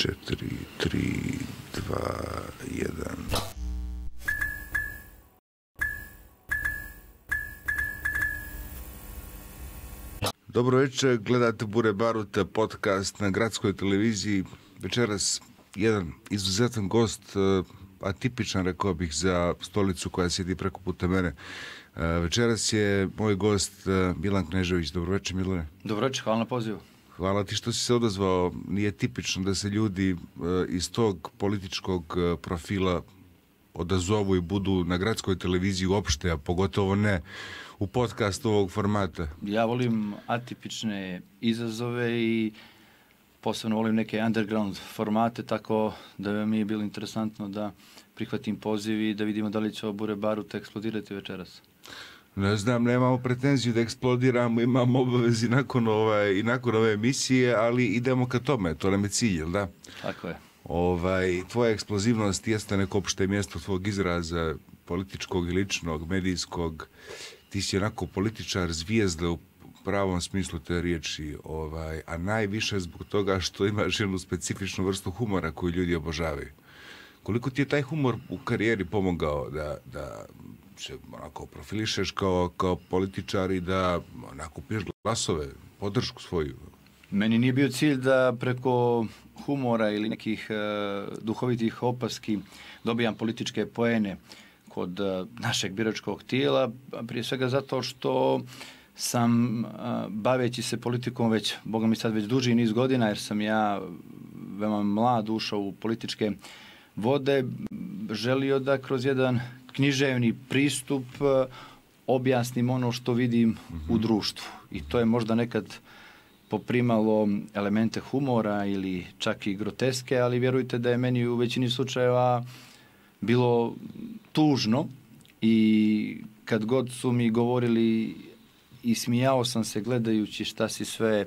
4, 3, 2, 1. Dobro večer, gledate Bure Baruta podcast na gradskoj televiziji. Večeras jedan izuzetan gost, atipičan rekao bih za stolicu koja sjedi preko puta mene. Večeras je moj gost Milan Knežević. Dobro večer, Milane. Dobro večer, hvala na pozivu. Hvala ti što si se odazvao. Nije tipično da se ljudi iz tog političkog profila odazovu i budu na gradskoj televiziji uopšte, a pogotovo ne u podcastu ovog formata. Ja volim atipične izazove i posebno volim neke underground formate, tako da mi je bilo interesantno da prihvatim poziv i da vidimo da li će ovo Bure Baruta eksplodirati večeras. Ne znam, nemamo pretenziju da eksplodiramo, imamo obavezi nakon ove emisije, ali idemo ka tome, to nam je cilj, jel da? Tako je. Tvoja eksplozivnost jeste neko opšte mjesto tvog izraza, političkog i ličnog, medijskog. Ti si onako političar, zvijezda u pravom smislu te riječi, a najviše zbog toga što imaš jednu specifičnu vrstu humora koju ljudi obožavaju. Koliko ti je taj humor u karijeri pomogao da se onako profilišeš kao političar i da onako piješ glasove, podršku svoju? Meni nije bio cilj da preko humora ili nekih duhovitih opaski dobijam političke poene kod našeg biračkog tijela, prije svega zato što sam baveći se politikom već, boga mi sad već duži niz godina, jer sam ja veoma mlad ušao u političke vode, želio da kroz jedan književni pristup objasnim ono što vidim u društvu. I to je možda nekad poprimalo elemente humora ili čak i groteske, ali vjerujte da je meni u većini slučajeva bilo tužno i kad god su mi govorili i smijao sam se gledajući šta si sve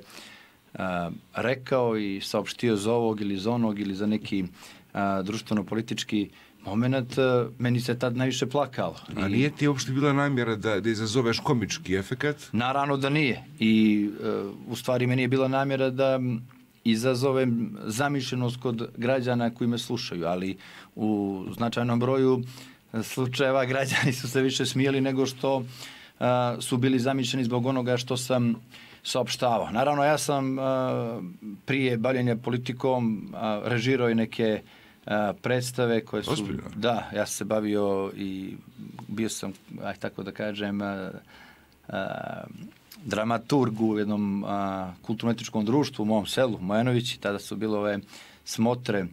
rekao i saopštio za ovog ili za onog ili za neki društveno-politički moment, meni se tad najviše plakalo. A nije ti uopšte bila namjera da izazoveš komički efekat? Naravno da nije. I u stvari meni je bila namjera da izazovem zamišljenost kod građana koji me slušaju, ali u značajnom broju slučajeva građani su se više smijeli nego što su bili zamišljeni zbog onoga što sam saopštavao. Naravno, ja sam prije bavljenja politikom režirao i neke predstave koje su... Ospredno. Da, ja sam se bavio i bio sam, tako da kažem, dramaturg u jednom kulturno-etičkom društvu u mom selu, Mojanovići. Tada su bile ove smotre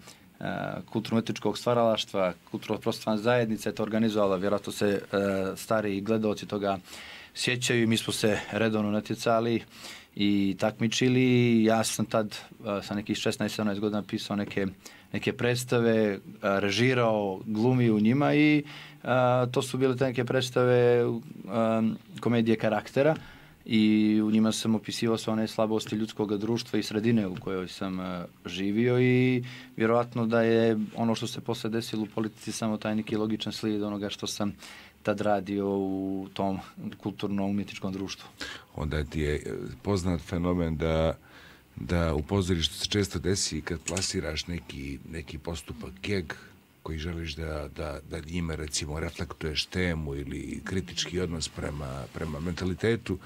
kulturno-etičkog stvaralaštva, kulturno-prostorna zajednica je to organizovala, vjerojatno se stariji gledaoci toga sjećaju i mi smo se redovno natjecali i takmičili. Ja sam tad sa nekih 16-17 godina pisao neke predstave, režirao, glumio u njima i to su bile te neke predstave komedije karaktera i u njima sam opisivao sve one slabosti ljudskog društva i sredine u kojoj sam živio i vjerojatno da je ono što se posle desilo u politici samo taj neki logičan slijed onoga što sam tad radio u tom kulturno-umjetničkom društvu. Onda ti je poznat fenomen da u pozorištu se često desi kad plasiraš neki postupak, geg koji želiš da njime recimo reflektuješ temu ili kritički odnos prema mentalitetu,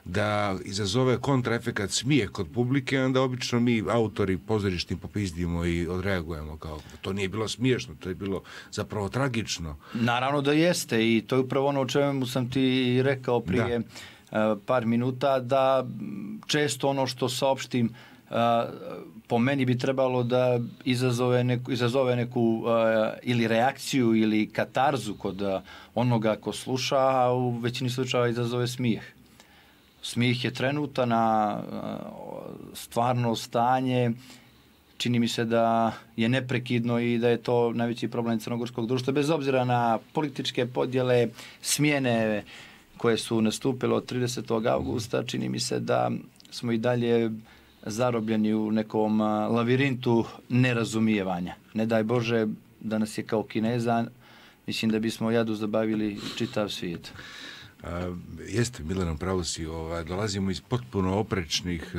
da izazove kontraefekat smije kod publike, onda obično mi autori pozorišni popizdimo i odreagujemo kao to nije bilo smiješno, to je bilo zapravo tragično. Naravno da jeste i to je upravo ono o čemu sam ti rekao prije par minuta, da često ono što saopštim po meni bi trebalo da izazove neku ili reakciju ili katarzu kod onoga ko sluša, a u većini slučajeva izazove smijeh. Smijeh je trenutana, stvarno stanje, čini mi se da je neprekidno i da je to najveći problem crnogorskog društva, bez obzira na političke podjele, smjene koje su nastupile od 30. augusta, čini mi se da smo i dalje zarobljeni u nekom lavirintu nerazumijevanja. Ne daj Bože da nas je kao Kineza, mislim da bismo jadu zabavili čitav svijet. Jeste, Milanom, pravo si, dolazimo iz potpuno oprečnih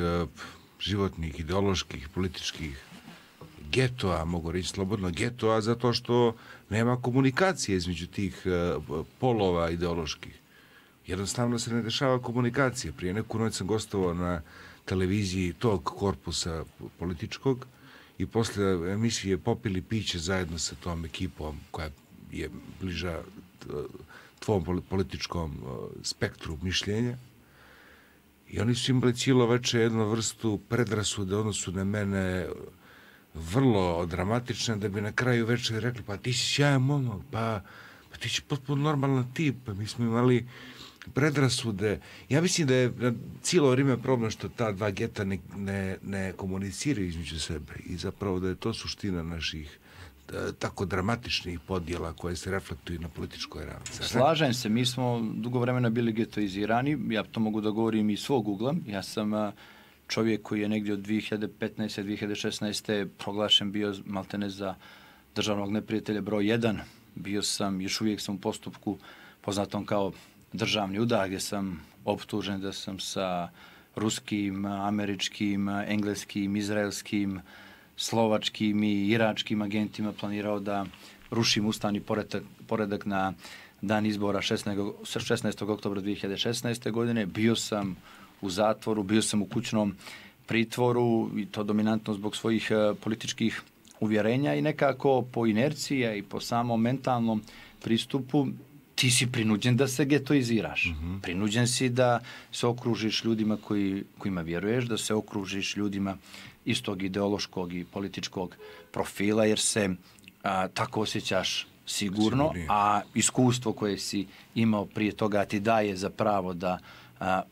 životnih, ideoloških, političkih getoa, mogu reći slobodno getoa, zato što nema komunikacije između tih polova ideoloških. Jednostavno se ne dešava komunikacije. Prije neku noć sam gostovao na televiziji tog korpusa političkog i posle emisije popili piće zajedno sa tom ekipom koja je bliža tvom političkom spektru mišljenja. I oni su imali cijelo veče jednu vrstu predrasude odnosu na mene vrlo dramatične, da bi na kraju večera rekli, pa ti si sjajan momak, pa ti si potpuno normalan tip, pa mi smo imali predrasude. Ja mislim da je cijelo vrijeme problem što ta dva geta ne komuniciraju između sebe i zapravo da je to suština naših tako dramatičnih podjela koje se reflektuju na političkoj ravni. Slažem se, mi smo dugo vremena bili getoizirani, ja to mogu da govorim iz svog ugla. Ja sam čovjek koji je negdje od 2015. 2016. proglašen bio maltene za državnog neprijatelja broj 1. Bio sam, još uvijek sam u postupku poznatom kao državni udar, gdje sam optužen da sam sa ruskim, američkim, engleskim, izraelskim, slovačkim i iračkim agentima planirao da rušim ustavni poredak na dan izbora 16. oktobra 2016. godine. Bio sam u zatvoru, bio sam u kućnom pritvoru i to dominantno zbog svojih političkih uvjerenja i nekako po inerciji i po samom mentalnom pristupu ti si prinuđen da se getoiziraš. Prinuđen si da se okružiš ljudima kojima vjeruješ, da se okružiš ljudima istog ideološkog i političkog profila, jer se tako osjećaš sigurno, a iskustvo koje si imao prije toga ti daje za pravo da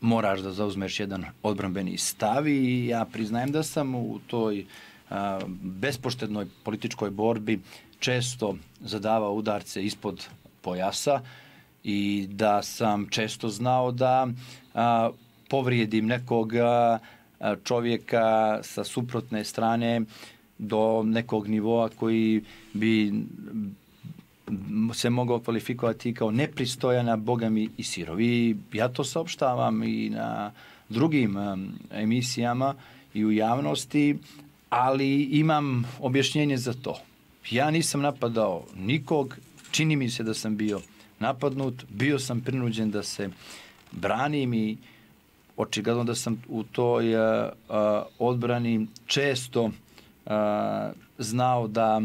moraš da zauzmeš jedan odbrambeni stav i ja priznajem da sam u toj bespoštednoj političkoj borbi često zadavao udarce ispod pojasa i da sam često znao da povrijedim nekog čovjeka sa suprotne strane do nekog nivoa koji bi se mogao kvalifikovati kao nepristojana, bogami i sirovi. Ja to saopštavam i na drugim emisijama i u javnosti, ali imam objašnjenje za to. Ja nisam napadao nikog, čini mi se da sam bio napadnut, bio sam prinuđen da se branim i očigledno da sam u toj odbrani često znao da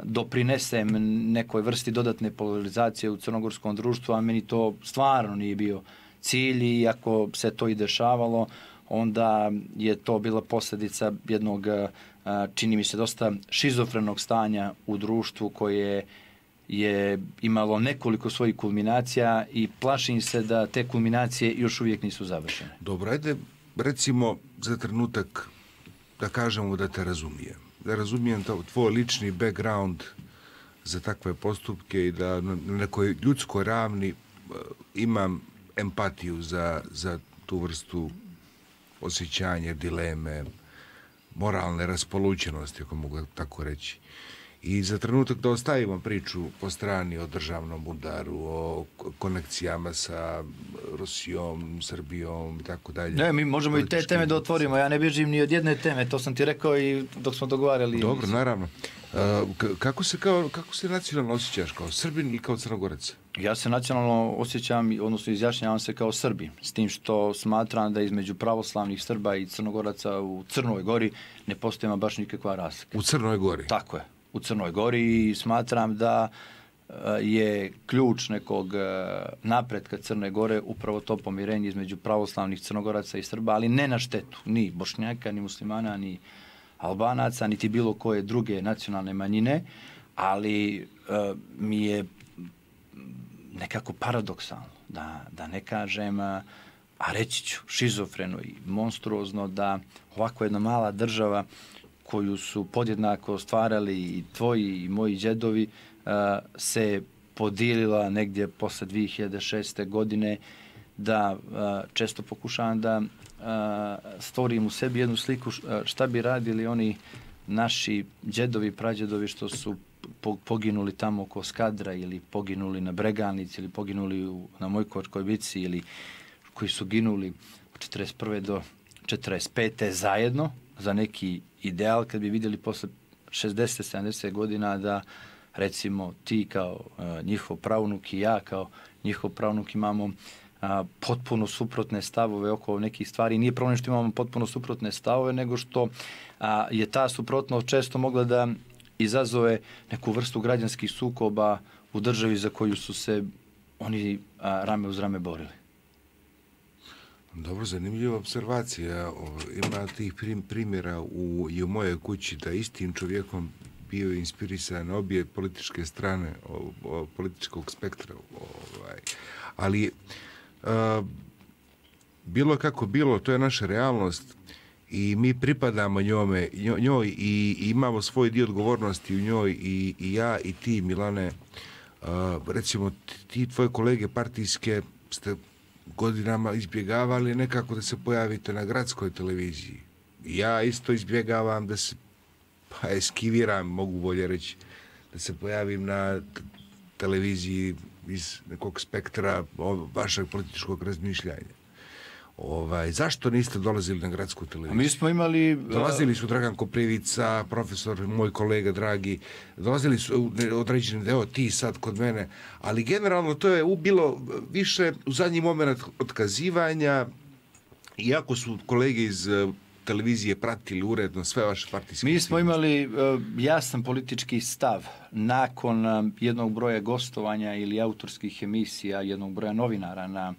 doprinesem nekoj vrsti dodatne polarizacije u crnogorskom društvu, a meni to stvarno nije bio cilj i ako se to i dešavalo, onda je to bila posljedica jednog, čini mi se, dosta šizofrenog stanja u društvu koje je imalo nekoliko svojih kulminacija i plašim se da te kulminacije još uvijek nisu završene. Dobro, ajde recimo za trenutak da kažemo da te razumijem. Da razumijem tvoj lični background za takve postupke i da na nekoj ljudskoj ravni imam empatiju za tu vrstu osjećanja, dileme, moralne raspolućenosti, ako mogu tako reći. I za trenutak da ostavimo priču po strani o državnom udaru, o konekcijama sa Rusijom, Srbijom i tako dalje. Ne, mi možemo i te teme da otvorimo. Ja ne bježim ni od jedne teme, to sam ti rekao i dok smo dogovarali. Dobro, naravno. Kako se nacionalno osjećaš, kao Srbin ili kao Crnogorac? Ja se nacionalno osjećam, odnosno izjašnjavam se kao Srbin, s tim što smatram da između pravoslavnih Srba i Crnogoraca u Crnoj Gori ne postoji baš nikakva razlika. U Crnoj Gori? Tako je. U Crnoj Gori i smatram da je ključ nekog napretka Crne Gore upravo to pomirenje između pravoslavnih Crnogoraca i Srba, ali ne na štetu ni Bošnjaka, ni muslimana, ni Albanaca, niti bilo koje druge nacionalne manjine, ali mi je nekako paradoksalno, da ne kažem, a reći ću šizofreno i monstruozno, da ovako jedna mala država koju su podjednako stvarali i tvoji i moji džedovi, se podijelila negdje posle 2006. godine, da često pokušavam da stvorim u sebi jednu sliku šta bi radili oni naši džedovi, prađedovi što su poginuli tamo oko Skadra ili poginuli na Breganici ili poginuli na Mojkovačkoj bici ili koji su ginuli od 41. do 45. zajedno za neki ideal, kad bi vidjeli posle 60-70 godina da recimo ti kao njihov pravnuk i ja kao njihov pravnuk imamo potpuno suprotne stavove oko nekih stvari. Nije problem što imamo potpuno suprotne stavove, nego što je ta suprotnost često mogla da izazove neku vrstu građanskih sukoba u državi za koju su se oni rame uz rame borili. Dobro, zanimljiva observacija. Ima tih primjera i u mojoj kući da istim čovjekom bio inspirisan obje političke strane političkog spektra. Ali bilo kako bilo, to je naša realnost i mi pripadamo njoj i imamo svoj dio odgovornosti u njoj i ja i ti, Milane. Recimo, ti tvoje kolege partijske ste godinama izbjegavali nekako da se pojavite na gradskoj televiziji. Ja isto izbjegavam da se eskiviram, mogu bolje reći, da se pojavim na televiziji iz nekog spektra vašeg političkog razmišljanja. Zašto niste dolazili na gradsku televiziju? Mi smo imali... Dolazili su Dragan Koprivica, profesor, moj kolega dragi, dolazili su određeni deo, ti sad kod mene, ali generalno to je bilo više u zadnji moment otkazivanja, iako su kolege iz televizije pratili uredno sve vaše partijske... Mi smo imali jasan politički stav nakon jednog broja gostovanja ili autorskih emisija, jednog broja novinara na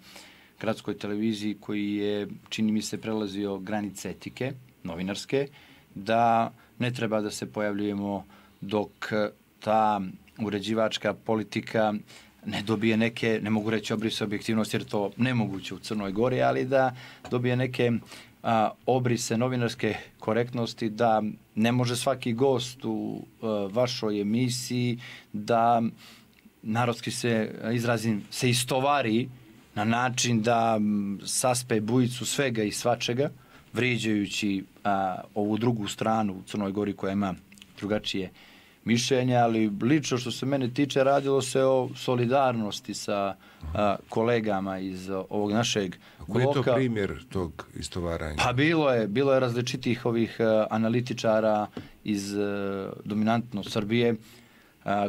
gradskoj televiziji koji je, čini mi se, prelazio granice etike, novinarske, da ne treba da se pojavljujemo dok ta uređivačka politika ne dobije neke, ne mogu reći obrise objektivnosti jer to nemoguće u Crnoj Gori, ali da dobije neke obrise novinarske korektnosti, da ne može svaki gost u vašoj emisiji da, narodski se izrazim, se istovari na način da saspe bujicu svega i svačega, vrijeđajući ovu drugu stranu u Crnoj Gori koja ima drugačije mišljenje, ali lično što se mene tiče radilo se o solidarnosti sa kolegama iz ovog našeg bloka. Koji je to primjer tog istovaranja? Pa bilo je različitih ovih analitičara iz dominantno Srbije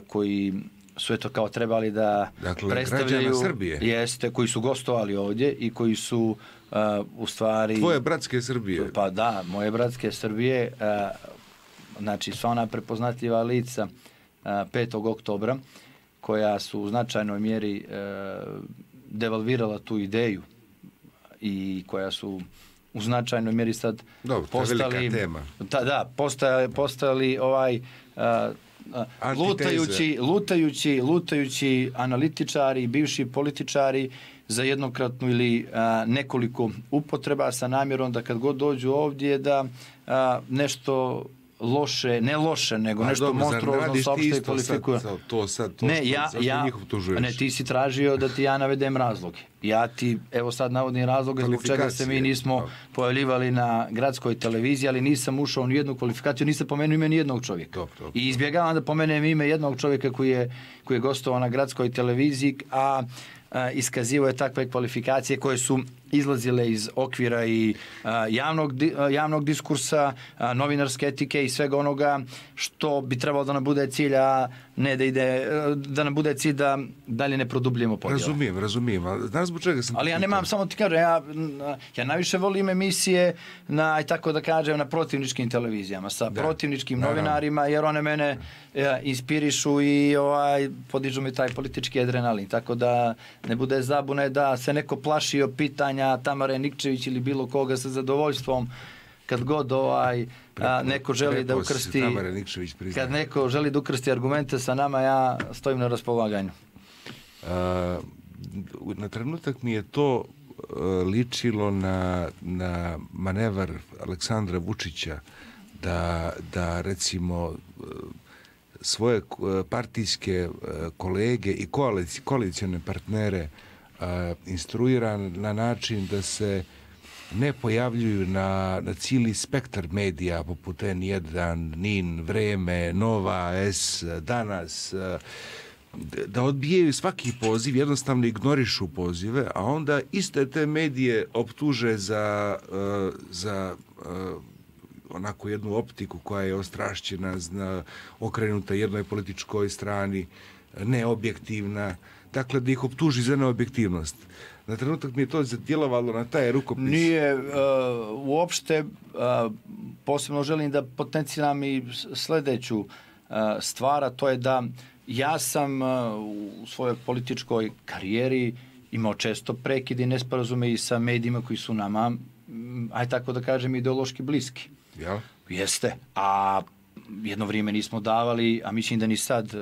koji su eto kao trebali da predstavljaju, Srbije. Jeste, koji su gostovali ovdje i koji su u stvari... Tvoje bratske Srbije. Pa da, moje bratske Srbije, znači sva ona prepoznatljiva lica 5. oktobra, koja su u značajnoj mjeri devalvirala tu ideju i koja su u značajnoj mjeri sad postali... Tema. Postali lutajući analitičari, bivši političari za jednokratnu ili nekoliko upotreba sa namjerom da kad god dođu ovdje da nešto loše, ne loše, nego nešto monstruozno saopšte i kvalifikuju. Ne, ti si tražio da ti ja navedem razloge. Ja ti, evo sad navodim razloge zbog čega se mi nismo pojavljivali na gradskoj televiziji, ali nisam ušao u nijednu kvalifikaciju, nisam pomenuo ime nijednog čovjeka. I izbjegavam da pomenem ime jednog čovjeka koji je gostovao na gradskoj televiziji, a iskazivao je takve kvalifikacije koje su izlazile iz okvira i javnog diskursa, novinarske etike i svega onoga što bi trebalo da nam bude cilj, a ne da nam bude cilj da dalje ne produbljujemo podjele. Razumijem. Znaš zbog čega sam... Ali ja nemam, samo ti kažem, ja najviše volim emisije na, tako da kažem, na protivničkim televizijama, sa protivničkim novinarima, jer one mene inspirišu i podižu mi taj politički adrenalin. Tako da ne bude zabune da se neko plašio pitanja Tamare Nikčević ili bilo koga sa zadovoljstvom kad god neko želi da ukrsti, kad neko želi da ukrsti argumente sa nama, ja stojim na raspolaganju. Na trenutak mi je to ličilo na manevar Aleksandra Vučića da recimo svoje partijske kolege i koalicione partnere instruira na način da se ne pojavljuju na cijeli spektar medija poput N1, NIN, Vreme, Nova S, Danas, da odbijaju svaki poziv, jednostavno ignorišu pozive, a onda iste te medije optuže za onako jednu optiku koja je ostrašćena, okrenuta jednoj političkoj strani, neobjektivna, dakle da ih optuži za neobjektivnost. Na trenutak mi je to djelovalo na taj rukopis. Nije uopšte, posebno želim da potenciram i sljedeću stvar, a to je da ja sam u svojoj političkoj karijeri imao često prekide i nesporazume i sa medijima koji su nama, aj tako da kažem, ideološki bliski. Ja? Jeste, a jedno vrijeme nismo davali, a mislim da ni sad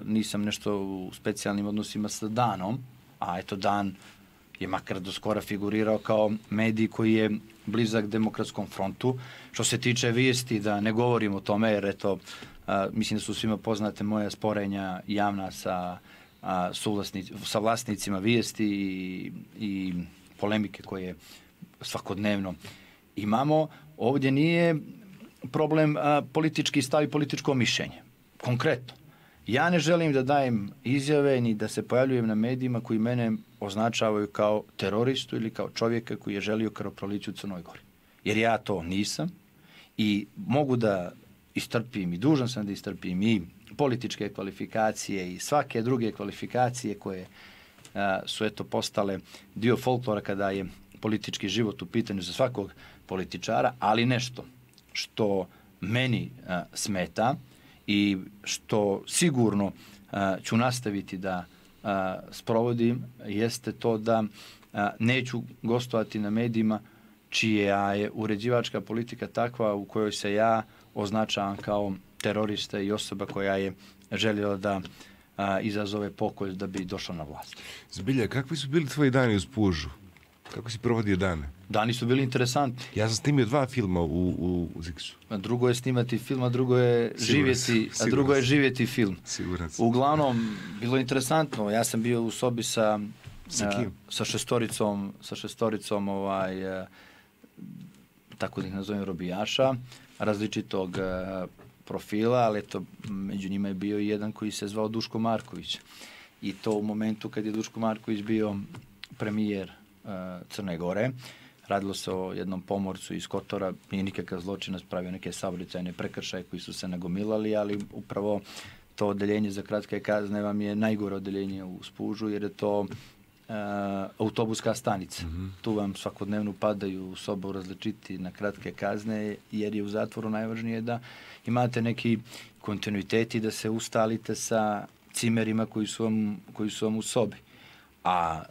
nisam nešto u specijalnim odnosima sa Danom, a eto Dan je makar do skora figurirao kao medij koji je blizak Demokratskom frontu. Što se tiče vijesti, da ne govorim o tome, jer eto, mislim da su svima poznate moja sporenja javna sa vlasnicima vijesti i polemike koje svakodnevno imamo. Ovdje nije problem politički stav i političko mišljenje. Konkretno, ja ne želim da dajem izjave ni da se pojavljujem na medijima koji mene označavaju kao teroristu ili kao čovjeka koji je želio krvoproliće u Crnoj Gori. Jer ja to nisam i mogu da istrpim i dužan sam da istrpim i političke kvalifikacije i svake druge kvalifikacije koje su eto postale dio folklora kada je politički život u pitanju za svakog političara, ali nešto što meni smeta i što sigurno ću nastaviti da sprovodim jeste to da neću gostovati na medijima čija je uređivačka politika takva u kojoj se ja označavam kao terorista i osoba koja je željela da izazove pokolj da bi došla na vlast. Zbilja, kakvi su bili tvoji dani u Spužu? Kako si provodio dane? Dani su bili interesantni. Ja sam snimio 2 filma u Ziksu. Drugo je snimati film, a drugo je živjeti film. Siguran sam. Uglavnom, bilo je interesantno. Ja sam bio u sobi sa šestoricom tako da ih nazovem robijaša, različitog profila, ali eto, među njima je bio i jedan koji se zvao Duško Marković. I to u momentu kad je Duško Marković bio premijer Crne Gore. Radilo se o jednom pomorcu iz Kotora, nije nikakav zločinac, pravio neke saobraćajne prekršaje koji su se nagomilali, ali upravo to odeljenje za kratke kazne vam je najgore odeljenje u Spužu, jer je to autobuska stanica. Tu vam svakodnevno padaju u sobu različiti na kratke kazne, jer je u zatvoru najvažnije da imate neki kontinuitet i da se ustalite sa cimerima koji su vam u sobi. A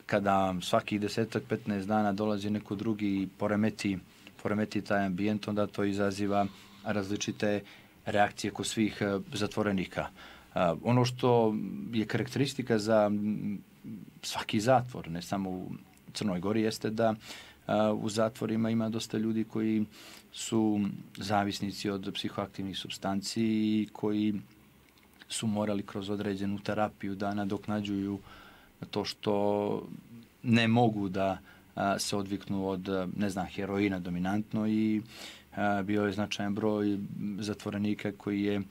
kada vam svakih 10-15 dana dolazi neko drugi i poremeti taj ambijent, onda to izaziva različite reakcije kod svih zatvorenika. Ono što je karakteristika za svaki zatvor, ne samo u Crnoj Gori, jeste da u zatvorima ima dosta ljudi koji su zavisnici od psihoaktivnih supstanci i koji su morali kroz određenu terapiju da nadoknađuju to što ne mogu da se odviknu od, heroina dominantno, i bio je značajan broj zatvorenika koji je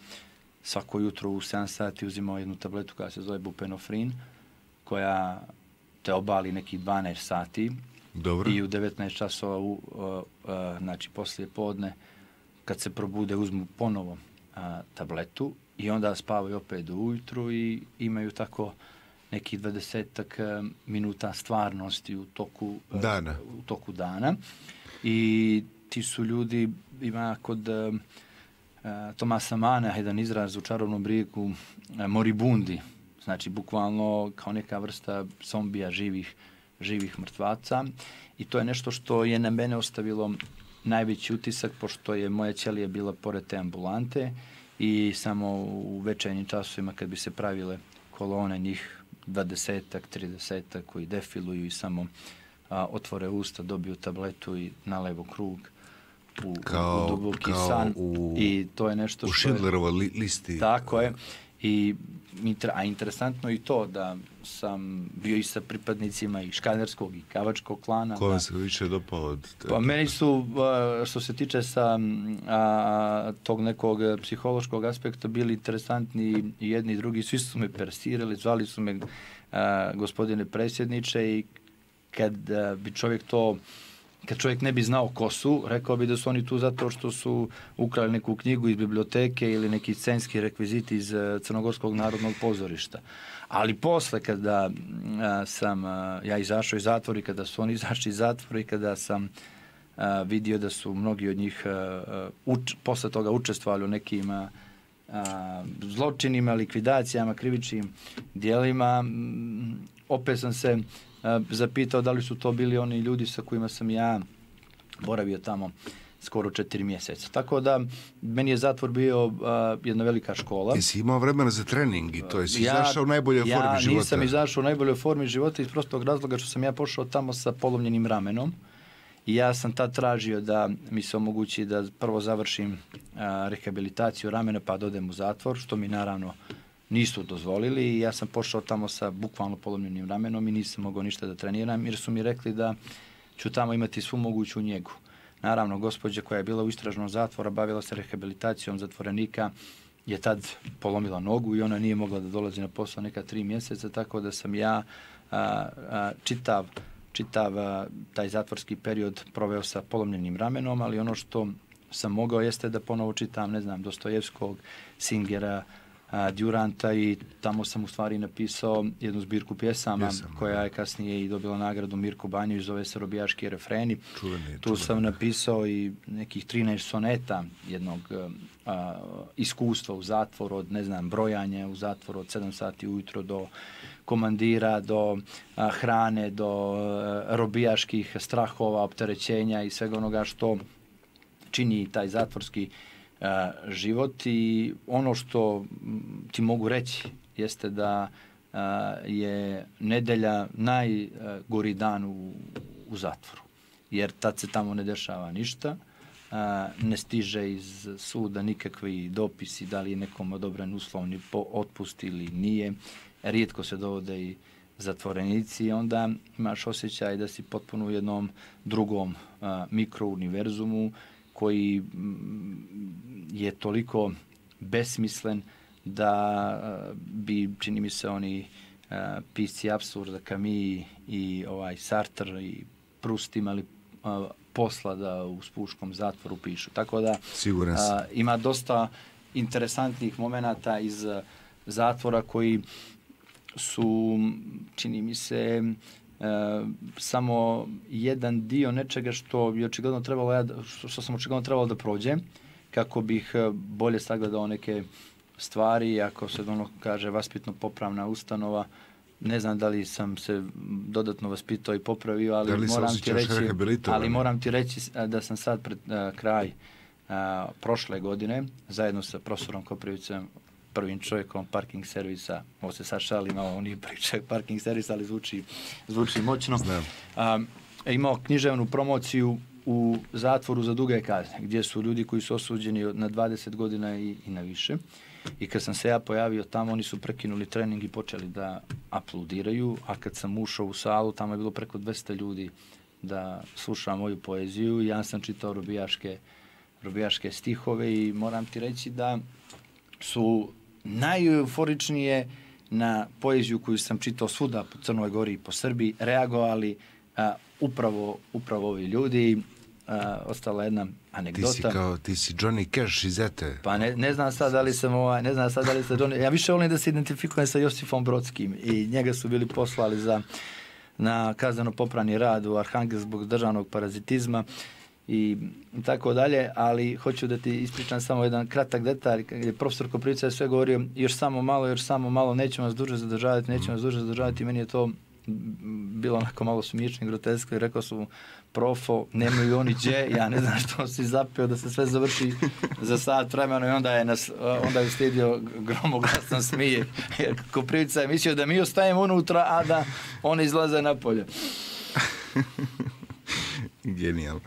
svako jutro u 7 sati uzimao jednu tabletu koja se zove bupenofrin, koja te obali neki 12 sati. Dobro. I u 19 časova, znači poslije podne, kad se probude, uzmu ponovo tabletu i onda spavaju opet do ujutru i imaju tako nekih 20 minuta stvarnosti u toku dana. I ti su ljudi, ima kod Tomasa Mana jedan izraz u čarobnom rijeku moribundi, znači bukvalno kao neka vrsta zombija, živih mrtvaca, i to je nešto što je na mene ostavilo najveći utisak, pošto je moja ćelija bila pored te ambulante i samo u večernjim časovima kad bi se pravile kolone, njih 20-ak, 30-ak koji defiluju i samo otvore usta, dobiju tabletu i nalevo krug u duboki san. I to je nešto u Schindlerovoj listi. Tako je. A interesantno i to da sam bio i sa pripadnicima i škanerskog i kavačkog klana. Ko vam se više dopao? Pa meni su, što se tiče sa tog nekog psihološkog aspekta, bili interesantni i jedni i drugi. Svi su me persirali, zvali su me gospodine predsjedniče, i kad bi čovjek to kad čovjek ne bi znao ko su, rekao bi da su oni tu zato što su ukrali neku knjigu iz biblioteke ili neki scenski rekviziti iz Crnogorskog narodnog pozorišta. Ali posle kada sam ja izašao iz zatvora i kada su oni izašli iz zatvora i kada sam vidio da su mnogi od njih posle toga učestvovali u nekim zločinima, likvidacijama, krivičnim dijelima, opet sam se zapitao da li su to bili oni ljudi sa kojima sam ja boravio tamo skoro 4 mjeseca. Tako da meni je zatvor bio jedna velika škola. Jesi imao vremena za trening i to jesi izašao u najboljoj formi života? Ja nisam izašao u najboljoj formi života iz prostog razloga što sam ja pošao tamo sa polomljenim ramenom i ja sam tad tražio da mi se omogući da prvo završim rehabilitaciju ramena pa odem u zatvor, što mi naravno nisu dozvolili i ja sam pošao tamo sa bukvalno polomljenim ramenom i nisam mogao ništa da treniram jer su mi rekli da ću tamo imati svu moguću njegu. Naravno, gospođa koja je bila u istražnom zatvoru, bavila se rehabilitacijom zatvorenika, je tad polomila nogu i ona nije mogla da dolazi na posao neka 3 mjeseca, tako da sam ja čitav taj zatvorski period proveo sa polomljenim ramenom, ali ono što sam mogao jeste da ponovo čitam, ne znam, Dostojevskog, Singera, Duranta i tamo sam u stvari napisao jednu zbirku pjesama koja je kasnije i dobila nagradu Mirko Banjović, zove se Robijaški refreni. Tu sam napisao i nekih 13 soneta jednog iskustva u zatvoru, od ne znam, brojanja u zatvoru od 7 sati ujutro do komandira, do hrane, do robijaških strahova, opterećenja i svega onoga što čini taj zatvorski život. I ono što ti mogu reći jeste da je nedelja najgori dan u zatvoru, jer tad se tamo ne dešava ništa, ne stiže iz suda nikakvi dopisi da li je nekom odobren uslovni otpust ili nije, rijetko se dovode i zatvorenici i onda imaš osjećaj da si potpuno u jednom drugom mikrouniverzumu koji je toliko besmislen da bi, čini mi se, oni pisci apsurda, Camus i Sartre i Proust imali posla da u spuškom zatvoru pišu. Tako da ima dosta interesantnih momenata iz zatvora koji su, čini mi se, samo jedan dio nečega što je očigledno trebalo što sam očigledno trebalo da prođem kako bih bolje sagledao neke stvari. Ako se ono kaže vaspitno popravna ustanova, ne znam da li sam se dodatno vaspitao i popravio, ali moram ti reći da sam sad pred kraj prošle godine zajedno sa profesorom Koprivicem, prvim čovjekom parking servisa, ovo se sad šali malo, on nije prvi čovjek parking servisa, ali zvuči moćno, imao književnu promociju u zatvoru za duge kazne, gdje su ljudi koji su osuđeni na 20 godina i na više. I kad sam se ja pojavio tamo, oni su prekinuli trening i počeli da aplaudiraju, a kad sam ušao u salu, tamo je bilo preko 200 ljudi da sluša moju poeziju. Ja sam čitao robijaške stihove i moram ti reći da su najeuforičnije na poeziju koju sam čitao svuda po Crnoj Gori i po Srbiji reagovali upravo ovi ljudi. Ostala jedna anegdota. Ti si Johnny Cash iz Ete. Pa ne znam sad da li sam Johnny. Ja više volim da se identifikujem sa Josifom Brodskim i njega su bili poslali na kazneno popravni rad u Arhangel zbog državnog parazitizma i tako dalje, ali hoću da ti ispričam samo jedan kratak detalj. Profesor Koprivica je sve govorio još samo malo, nećemo vas duže zadržavati, meni je to bilo onako malo smiješno i grotesko i rekao su profo, nemaju oni gdje, ja ne znam što si zapeo da se sve završi za sat vremena i onda je uslijedio gromoglasan smijeh. Koprivica je mislio da mi ostajemo unutra, a da one izlaze napolje. Genijalno.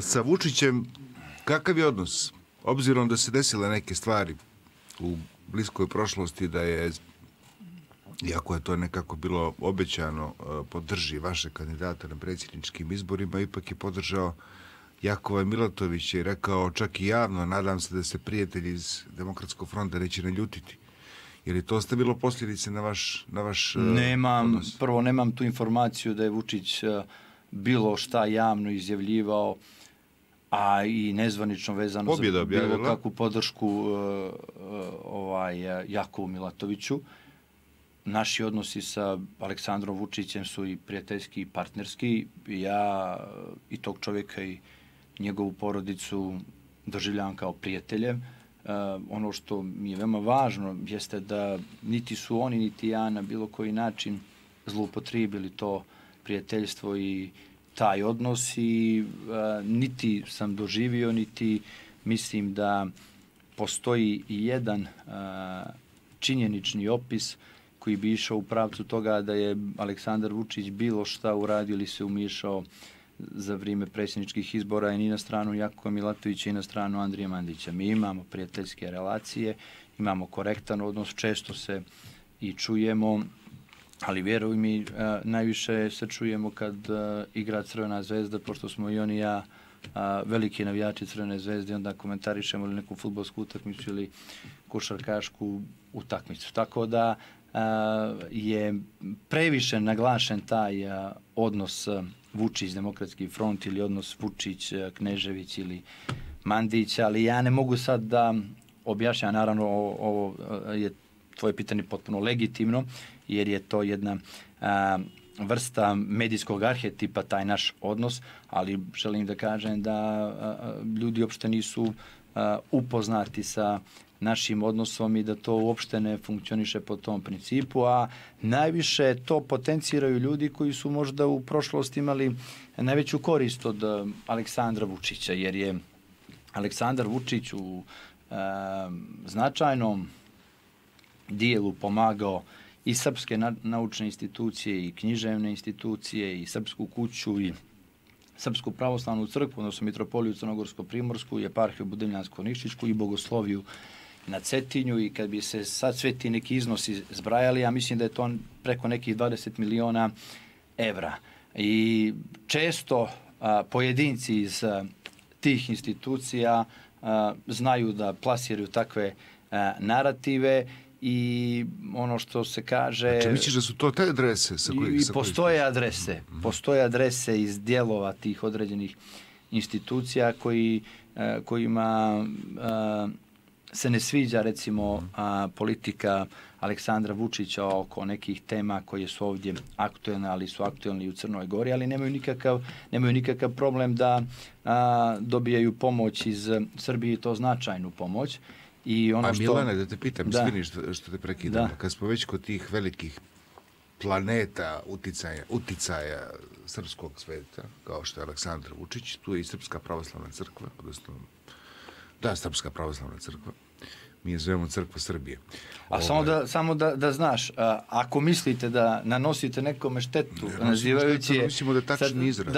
Sa Vučićem, kakav je odnos? Obzirom da se desile neke stvari u bliskoj prošlosti, da je, iako je to nekako bilo obećano, podrži vaše kandidata na predsjedničkim izborima, ipak je podržao Jakova Milatovića i rekao čak i javno, nadam se da se prijatelji iz Demokratskog fronta neće naljutiti, Je li to ostavilo posljedice na vaš odnos? Prvo, nemam tu informaciju da je Vučić bilo šta javno izjavljivao, a i nezvanično vezano za bilo kakvu podršku Jakovu Milatoviću. Naši odnosi sa Aleksandrom Vučićem su i prijateljski i partnerski. Ja i tog čovjeka i njegovu porodicu doživljavam kao prijatelje. Ono što mi je veoma važno jeste da niti su oni, niti ja na bilo koji način zloupotrijebili to prijateljstvo i taj odnos i niti sam doživio, niti mislim da postoji jedan činjenični opis koji bi išao u pravcu toga da je Aleksandar Vučić bilo šta uradio ili se umiješao za vrijeme predsjedničkih izbora i ni na stranu Jakova Milatovića i na stranu Andrije Mandića. Mi imamo prijateljske relacije, imamo korektan odnos, često se i čujemo, ali vjeruj mi, najviše se čujemo kad igra Crvena zvezda, pošto smo i on i ja veliki navijači Crvene zvezde, onda komentarišemo ili neku fudbalsku utakmicu ili košarkašku utakmicu. Tako da je previše naglašen taj odnos Vučić, Demokratski front ili odnos Vučić, Knežević ili Mandić, ali ja ne mogu sad da objašnjam, naravno ovo je tvoje pitanje potpuno legitimno, jer je to jedna vrsta medijskog arhetipa, taj naš odnos, ali želim da kažem da ljudi uopšte nisu upoznati sa našim odnosom i da to uopšte ne funkcioniše po tom principu, a najviše to potenciraju ljudi koji su možda u prošlosti imali najveću korist od Aleksandra Vučića, jer je Aleksandar Vučić u značajnom dijelu pomagao i srpske naučne institucije i književne institucije i Srpsku kuću i Srpsku pravoslavnu crkvu, odnosno Mitropoliju Crnogorsko-Primorsku i Eparhiju Budimljansko-Nišićku i Bogosloviju na Cetinju, i kad bi se sad sve ti neki iznosi zbrajali, ja mislim da je to preko nekih 20 miliona evra. I često pojedinci iz tih institucija znaju da plasiraju takve narative i ono što se kaže... Znači, misliš da su to te adrese? Postoje adrese iz dijelova tih određenih institucija kojima se ne sviđa, recimo, politika Aleksandra Vučića oko nekih tema koje su ovdje aktuelne, ali su aktuelne i u Crnoj Gori, ali nemaju nikakav problem da dobijaju pomoć iz Srbije, to značajnu pomoć. I ono Milane, da te pitam, izvini što te prekidam, kad smo već kod tih velikih planeta uticaja srpskog sveta, kao što je Aleksandar Vučić, tu je i Srpska pravoslavna crkva, odnosno Srpska pravoslavna crkva, mi je zovemo Crkva Srbije. A samo da znaš, ako mislite da nanosite nekome štetu, nazivajući je... Mislimo da je tačni izraz.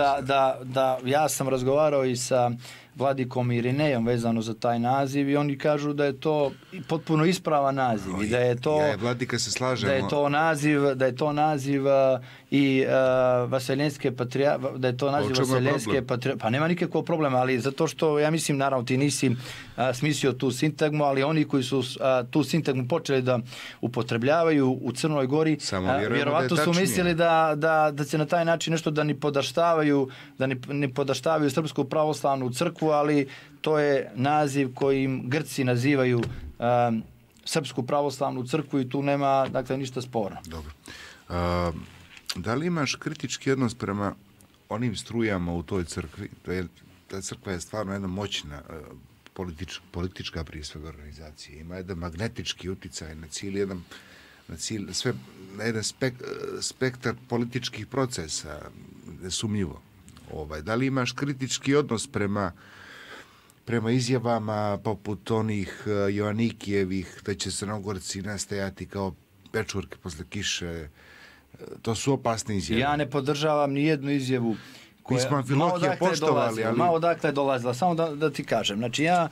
Ja sam razgovarao i sa Vladikom Irinejom vezano za taj naziv i oni kažu da je to potpuno ispravan naziv i da je to... Vladika se slažemo. Da je to naziv i Vaseljenske patrijarhe, da je to naziv Vaseljenske patrijarhe. Pa nema nikakvog problema, ali zato što, ja mislim, naravno, ti nisi smislio tu sintagmu, ali oni koji su tu sintagmu počeli da upotrebljavaju u Crnoj Gori, vjerovatno su mislili da će na taj način nešto da ne podaštavaju Srpsku pravoslavnu crkvu, ali to je naziv kojim Grci nazivaju Srpsku pravoslavnu crkvu i tu nema, dakle, ništa sporno. Dobro. Da li imaš kritički odnos prema onim strujama u toj crkvi? Ta crkva je stvarno jedna moćna politička prije svega organizacija. Ima jedan magnetički uticaj na jedan spektar političkih procesa, nesumnjivo. Da li imaš kritički odnos prema izjavama poput onih Joannikijevih, da će Crnogorci nastajati kao pečurke posle kiše? To su opasne izjave. Ja ne podržavam ni jednu izjavu koja... Mi smo Amfilohije poštovali, ali... Malo odakle dolazila, samo da ti kažem. Znači, ja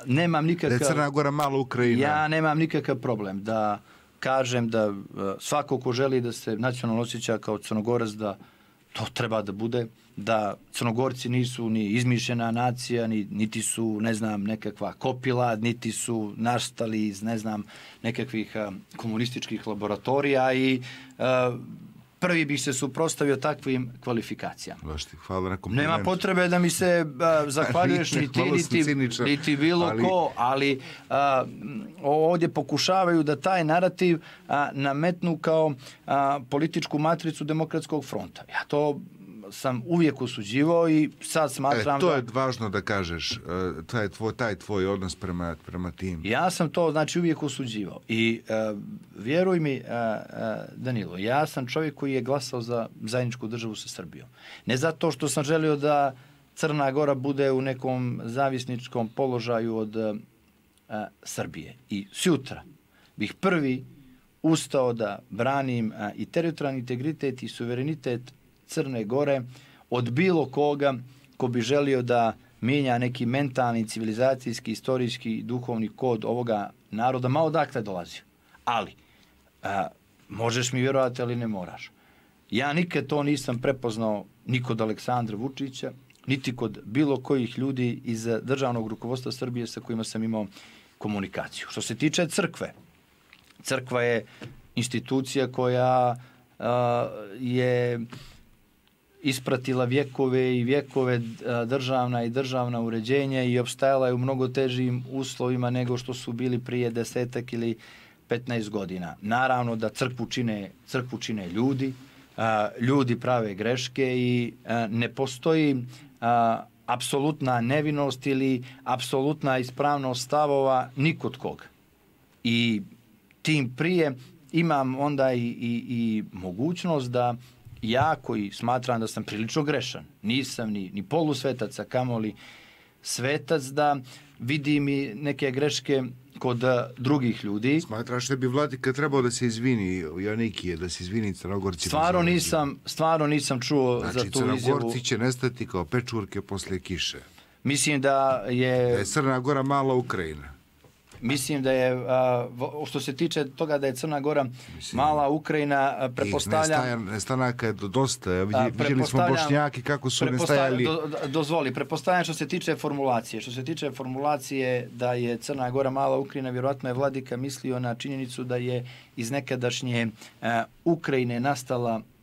nemam nikakav... Da je Crna Gora malo Ukrajina. Ja nemam nikakav problem da kažem da svako ko želi da se nacionalno osjeća kao Crnogorac, da to treba da bude da Crnogorci nisu ni izmišljena nacija, niti su, ne znam, nekakva kopila, niti su nastali iz, ne znam, nekakvih komunističkih laboratorija i prvi bih se suprotstavio takvim kvalifikacijama. Hvala na komplimentu. Nema potrebe da mi se zahvaljuješ ni ti, niti bilo ko, ali ovdje pokušavaju da taj narativ nametnu kao političku matricu Demokratskog fronta. Ja to sam uvijek osuđivao i sad smatram to je važno da kažeš, taj tvoj odnos prema tim. Ja sam to, znači, uvijek osuđivao i vjeruj mi, Danilo, ja sam čovjek koji je glasao za zajedničku državu sa Srbijom. Ne zato što sam želio da Crna Gora bude u nekom zavisničkom položaju od Srbije. I sutra bih prvi ustao da branim i teritorijalni integritet i suverenitet Crne Gore od bilo koga ko bi želio da mijenja neki mentalni, civilizacijski, istorijski, duhovni kod ovoga naroda, ma odakle dolazio. Ali, možeš mi vjerovati, ali ne moraš. Ja nikad to nisam prepoznao ni kod Aleksandra Vučića, niti kod bilo kojih ljudi iz državnog rukovodstva Srbije sa kojima sam imao komunikaciju. Što se tiče crkve, crkva je institucija koja je ispratila vjekove i vjekove državna uređenja i opstajala je u mnogo težim uslovima nego što su bili prije 10 ili 15 godina. Naravno da crkvu čine ljudi, ljudi prave greške i ne postoji apsolutna nevinost ili apsolutna ispravnost stavova nikod koga. I tim prije imam onda i mogućnost da ja koji smatram da sam prilično grešan, nisam ni polusvetac, a kamoli svetac, da vidim i neke greške kod drugih ljudi. Smatraš da bi vladika trebao da se izvini Joanikije, da se izvini Crnogorcima? Stvarno nisam čuo za tu izjavu. Znači, Crnogorci će nestati kao pečurke posle kiše. Mislim da je Crna Gora mala Ukrajina. Mislim da je, što se tiče toga da je Crna Gora mala Ukrajina, pretpostavljam... Nestanaka je dosta. Vidjeli smo Bošnjaki kako su nestajali... Dozvoli, pretpostavljam što se tiče formulacije. Što se tiče formulacije da je Crna Gora mala Ukrajina, vjerojatno je vladika mislio na činjenicu da je iz nekadašnje Ukrajine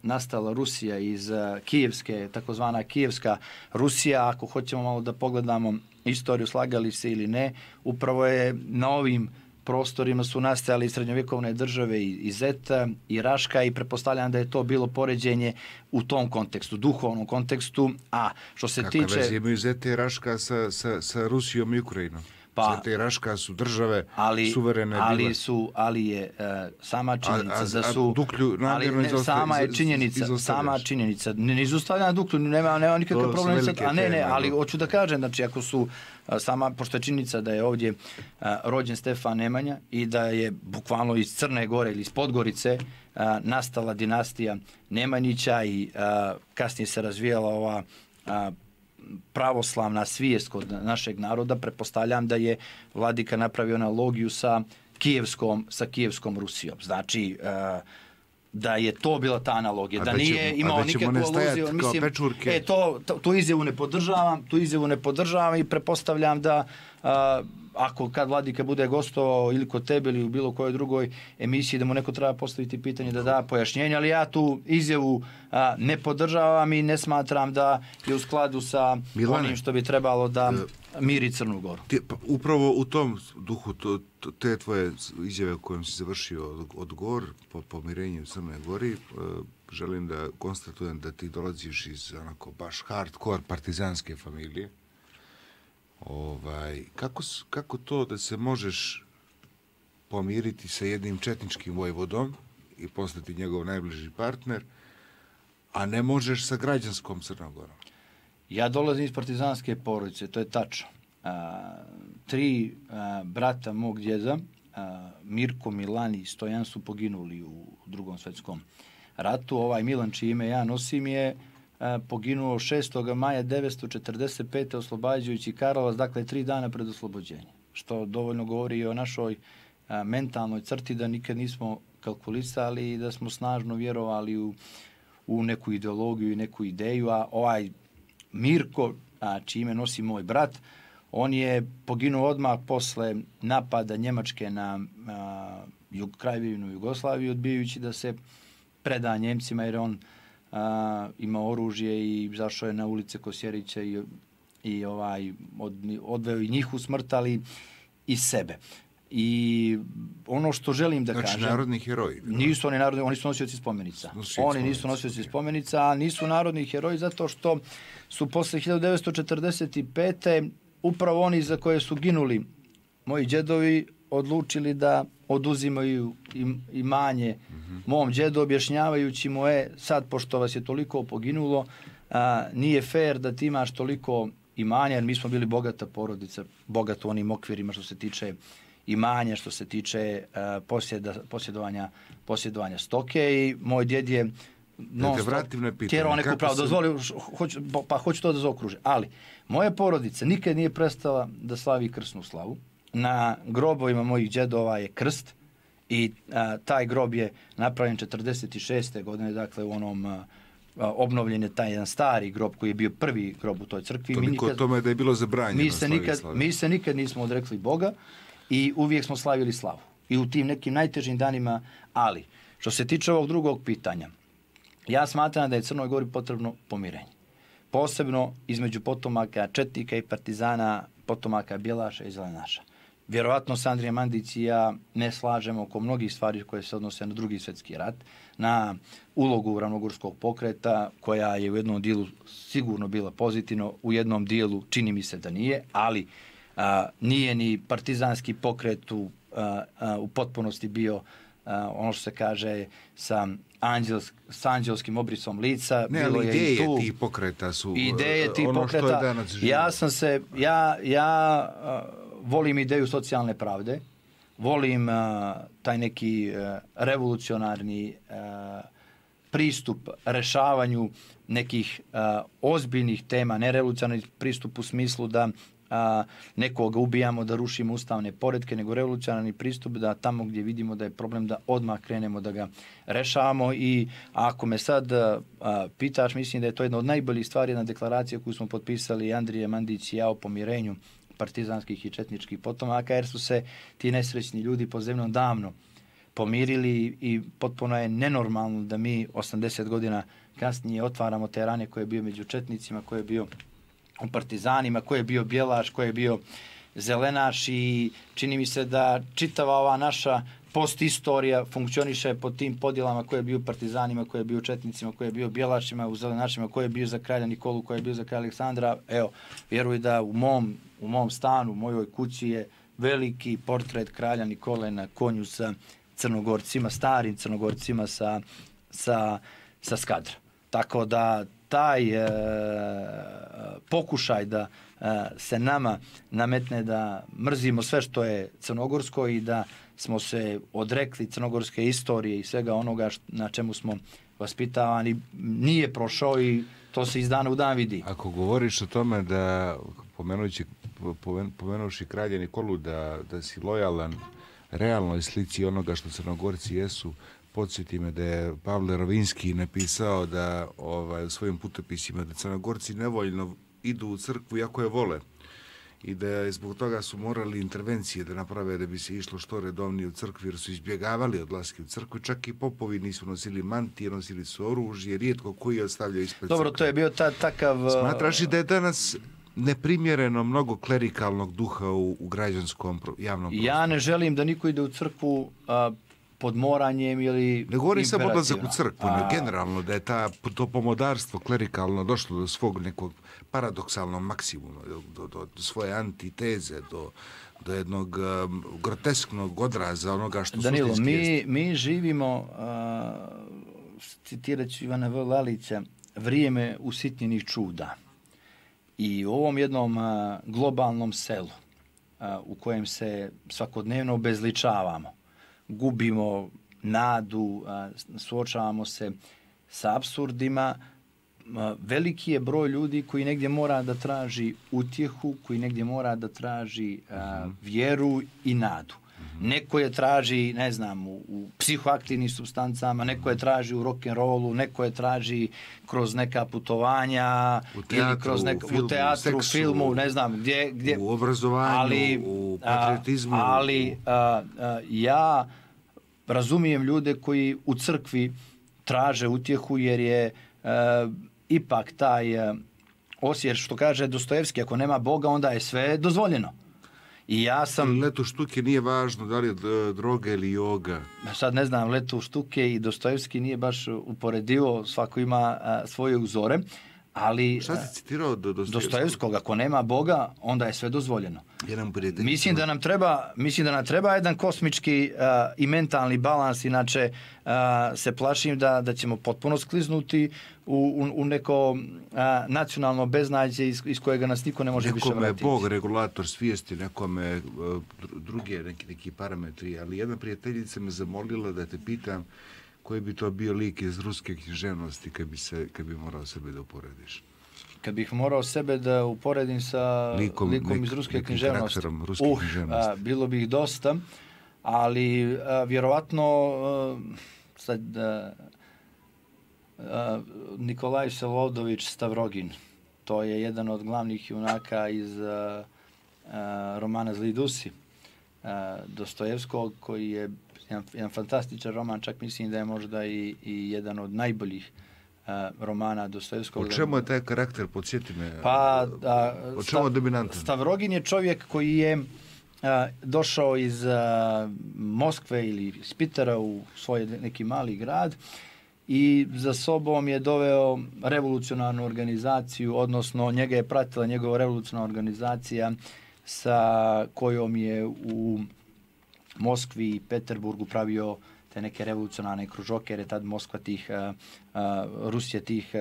nastala Rusija, iz Kijevske, takozvana Kijevska Rusija. Ako hoćemo malo da pogledamo istoriju, slagali se ili ne, upravo je na ovim prostorima su nastajali srednjovjekovne države i Zeta i Raška i pretpostavljam da je to bilo poređenje u tom kontekstu, duhovnom kontekstu. A što se tiče... Kakve veze imaju Zeta i Raška sa Rusijom i Ukrajinom? Zeta i Raška su države suverene bile. Ali je sama činjenica da su... Sama činjenica. Ne izostavljam Duklju, nema nikakav problem. Ali hoću da kažem, znači ako su pošto je činjenica da je ovdje rođen Stefan Nemanja i da je bukvalno iz Crne Gore ili iz Podgorice nastala dinastija Nemanjića i kasnije se razvijala ova pravoslavna svijest kod našeg naroda, pretpostavljam da je vladika napravio analogiju sa Kijevskom Rusijom. Znači, da je to bila ta analogija, da nije imao nikakvu aluziju. Mislim, tu izjavu ne podržavam i pretpostavljam da ako kad vladika bude gostovao ili kod tebe ili u bilo kojoj drugoj emisiji, da mu neko treba postaviti pitanje da da pojašnjenje, ali ja tu izjavu ne podržavam i ne smatram da je u skladu sa onim što bi trebalo da miri Crnu Goru. Upravo u tom duhu te tvoje izjave u kojem si završio odgovor po pomirenju Crne Gori, želim da konstatujem da ti dolaziš iz onako baš hardcore partizanske familije. Kako to da se možeš pomiriti sa jednim četničkim vojvodom i postati njegov najbliži partner, a ne možeš sa građanskom Crnom Gorom? Ja dolazim iz partizanske porodice, to je tačno. 3 brata mog djeda, Mirko, Milan i Stojan, su poginuli u Drugom svjetskom ratu. Ovaj Milan, čije ime ja nosim, je poginuo 6. maja 1945. oslobađajući Karlovac, dakle 3 dana pred oslobođenje. Što dovoljno govori i o našoj mentalnoj crti da nikad nismo kalkulisali i da smo snažno vjerovali u neku ideologiju i neku ideju, a ovaj Mirko, čime nosi moj brat, on je poginuo odmah posle napada Njemačke na Kraljevinu Jugoslaviju, odbijajući da se preda Njemcima, jer on imao oružje i zašao je na ulice Kosjerića i odveo i njih u smrt, ali i sebe. I ono što želim da kažem... Znači narodni heroji. Nisu oni narodni, oni su nosioci spomenica. Oni nisu nosioci spomenica, a nisu narodni heroji zato što su posle 1945. upravo oni za koje su ginuli moji djedovi odlučili da oduzimaju imanje mom djedu, objašnjavajući mu sad pošto vas je toliko poginulo, nije fair da ti imaš toliko imanja, jer mi smo bili bogata porodica, bogato u onim okvirima što se tiče imanja, što se tiče posjedovanja stoke, i moj djed je tjerao neku pravu, dozvolio, pa hoću to da zaokružim. Ali, moja porodica nikad nije prestala da slavi krsnu slavu. Na grobovima mojih djedova je krst i taj grob je napravljen 46. godine, dakle u onom obnovljen je taj jedan stari grob koji je bio prvi grob u toj crkvi. Toliko o tome da je bilo zabranjeno. Mi se nikad nismo odrekli Boga i uvijek smo slavili slavu. I u tim nekim najtežim danima, ali što se tiče ovog drugog pitanja, ja smatram da je Crnoj Gori potrebno pomirenje. Posebno između potomaka četnika i partizana, potomaka Bjelaša i Zelenaša. Vjerovatno se Andrija Mandić i ja ne slažemo oko mnogih stvari koje se odnose na Drugi svjetski rat, na ulogu ravnogorskog pokreta, koja je u jednom dijelu sigurno bila pozitivno, u jednom dijelu čini mi se da nije, ali nije ni partizanski pokret u potpunosti bio ono što se kaže sa anđelskim obrisom lica. Ne, bilo ali je ideje i tu, tih pokreta su ideje tih ono pokreta, što je danas živo. Ja volim ideju socijalne pravde, volim taj neki revolucionarni pristup rešavanju nekih ozbiljnih tema, ne revolucionarni pristup u smislu da nekoga ubijamo, da rušimo ustavne poretke, nego revolucionarni pristup da tamo gdje vidimo da je problem da odmah krenemo da ga rešavamo. I ako me sad pitaš, mislim da je to jedna od najboljih stvari, jedna deklaracija koju smo potpisali Andrija Mandić i ja o pomirenju partizanskih i četničkih potomaka, jer su se ti nesrećni ljudi po zemljom davno pomirili i potpuno je nenormalno da mi 80 godina kasnije otvaramo te rane koje je bio među četnicima, koje je bio u partizanima, koje je bio Bjelaš, koje je bio Zelenaš, i čini mi se da čitava ova naša postistorija funkcioniše pod tim podjelama, koje je bio partizanima, koje je bio četnicima, koje je bio Bjelašima, u Zelenašima, koje je bio za kralja Nikolu, koje je bio za kralja Aleksandra. Evo, vjeruj da u mom stanu, u mojoj kući je veliki portret kralja Nikole na konju sa Crnogorcima, starim Crnogorcima sa Skadra. Tako da taj pokušaj da se nama nametne da mrzimo sve što je crnogorsko i da smo se odrekli crnogorske istorije i svega onoga na čemu smo vaspitavani, nije prošao i to se iz dana u dan vidi. Ako govoriš o tome da, pomenuši kralja Nikolu, da si lojalan realnoj slici onoga što Crnogorci jesu, podsjeti me da je Pavle Rovinski napisao da u svojim putopisima da Crnogorci nevoljno idu u crkvu iako je vole i da zbog toga su morali intervencije da naprave da bi se išlo što redovnije u crkvi, jer su izbjegavali odlaske u crkvu. Čak i popovi nisu nosili mantije, nosili su oružje, rijetko koji ostavljaju ispred crkve. Dobro, to je bio takav... Smatraš li da je danas neprimjereno mnogo klerikalnog duha u građanskom javnom prostoru? Ja ne želim da niko ide u crkvu pod moranjem ili... Ne govori samo odlazak u crkvu, generalno da je to pomodarstvo klerikalno došlo do svog nekog paradoksalnog maksimuma, do svoje antiteze, do jednog grotesknog odraza onoga što Danilo, suštinski jeste. Mi živimo, citirat ću Ivana V. Lalića, vrijeme usitnjenih čuda. I u ovom jednom globalnom selu u kojem se svakodnevno obezličavamo, gubimo nadu, suočavamo se sa apsurdima, veliki je broj ljudi koji negdje mora da traži utjehu, koji negdje mora da traži vjeru i nadu. neko je traži, ne znam, u psihoaktivnim supstancama, neko je traži u rock'n'rollu, neko je traži kroz neka putovanja, ili kroz u teatru, filmu, ne znam, gdje u obrazovanju, u patriotizmu. Ali ja razumijem ljude koji u crkvi traže utjehu, jer je ipak taj osjećaj, što kaže Dostojevski, ako nema Boga, onda je sve dozvoljeno. I ja sam... Letu štuke nije važno da li je droga ili joga. Sad ne znam, Letu štuke i Dostojevski nije baš uporedivo, svako ima svoje uzore, ali... Šta si citirao Dostojevskog? Ako nema Boga, onda je sve dozvoljeno. Mislim da nam treba jedan kosmički i mentalni balans, inače se plašim da ćemo potpuno skliznuti u neko nacionalno beznađe iz kojega nas niko ne može više vratiti. Nekome je Bog regulator svijesti, nekome druge neki parametri, ali jedna prijateljica me zamolila da te pitam koji bi to bio lik iz ruske književnosti kad bi morao sebe da uporediš. Kad bih morao sebe da uporedim sa likom iz ruske književnosti, bilo bi ih dosta, ali vjerovatno sad Nikolaj Vsevoldović Stavrogin, to je jedan od glavnih junaka iz romana Zli Dusi Dostojevskog, koji je jedan fantastičan roman, čak mislim da je možda i jedan od najboljih romana Dostojevskog. O čemu je taj karakter, podsjeti me? O čemu je dominantan? Stavrogin je čovjek koji je došao iz Moskve ili iz Pitera u svoj neki mali grad i za sobom je doveo revolucionarnu organizaciju, odnosno njega je pratila njegova revolucionarna organizacija sa kojom je u Moskvi i Peterburgu pravio te neke revolucionarne kružoke, jer tad Moskva Rusija tih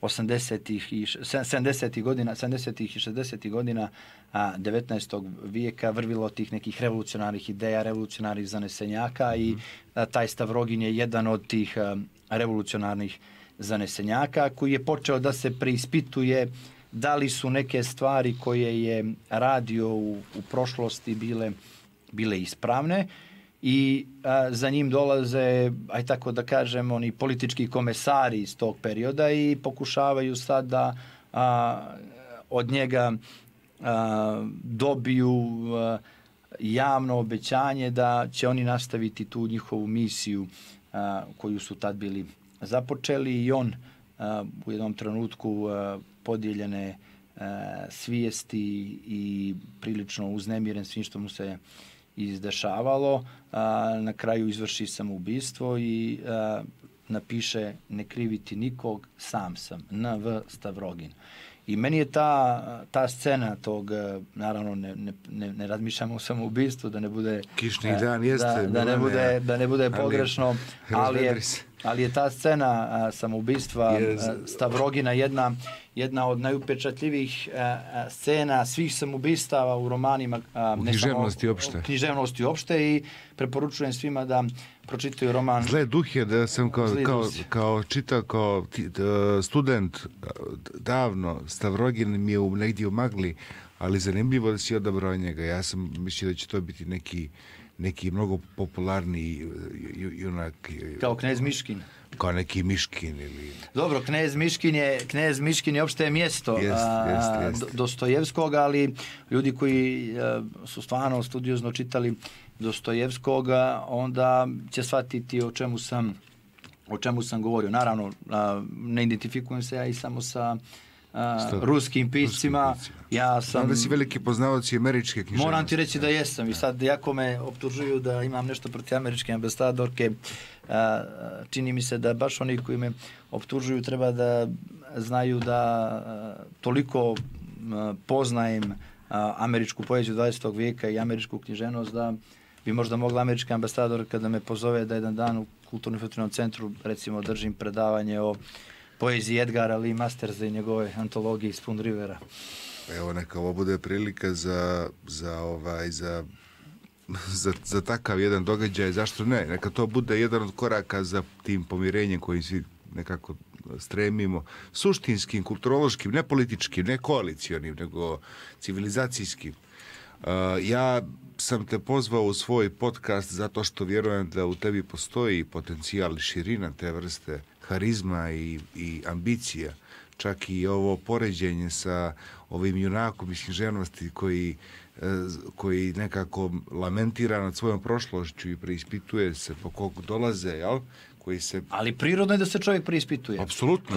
80-ih i 70-ih godina, 70-ih i 60-ih godina 19. vijeka vrvilo tih nekih revolucionarnih ideja, revolucionarnih zanesenjaka i taj Stavrogin je jedan od tih revolucionarnih zanesenjaka koji je počeo da se preispituje da li su neke stvari koje je radio u prošlosti bile ispravne i za njim dolaze, aj tako da kažem, oni politički komesari iz tog perioda i pokušavaju sad da od njega dobiju javno obećanje da će oni nastaviti tu njihovu misiju koju su tad bili započeli i on u jednom trenutku podijeljene svijesti i prilično uznemiren svim što mu se izdešavalo, na kraju izvrši samoubistvo i napiše ne kriviti nikog, sam sam, N.V. Stavrogin. I meni je ta scena tog, naravno ne razmišljamo o samoubistvu, da ne bude kišni dan jeste, da ne bude pogrešno, ali je ta scena samoubistva Stavrogina jedna od najupečatljivijih scena svih samoubistava u romanima, književnosti uopšte i preporučujem svima da pročitaju roman Zle duhe, da sam kao čitao kao student davno. Stavrogin mi je negdje u magli, ali zanimljivo da si odabrao njega. Ja sam mislio da će to biti neki mnogo popularniji junak. Kao knez Miškin. Kao neki Miškin ili... Dobro, knez Miškin je opšte mjesto Dostojevskog, ali ljudi koji su stvarno studiozno čitali Dostojevskoga, onda će shvatiti o čemu sam govorio. Naravno, ne identifikujem se ja i samo sa ruskim piscima. Ja sam... da si veliki poznavac i američke književnosti. Moram ti reći da jesam i sad jako me optužuju da imam nešto protiv američke ambasadorke. Čini mi se da baš oni koji me optužuju treba da znaju da toliko poznajem američku poeziju 20. vijeka i američku književnost da bi možda mogla američka ambasadorka da me pozove da jedan dan u Kulturno-informativnom centru recimo držim predavanje o poeziji Edgara Lee Mastersa i njegove antologije Spoon Rivera. Evo, neka ovo bude prilika za takav jedan događaj, zašto ne? Neka to bude jedan od koraka za tim pomirenjem kojim svi nekako stremimo, suštinskim, kulturološkim, ne političkim, ne koalicijonim, nego civilizacijskim. Ja sam te pozvao u svoj podcast zato što vjerujem da u tebi postoji potencijal, širina te vrste harizma i ambicija. Čak i ovo poređenje sa ovim junakom iz književnosti koji nekako lamentira nad svojom prošlošću i preispituje se po kog dolaze, jel? Ali prirodno je da se čovjek preispituje. Apsolutno.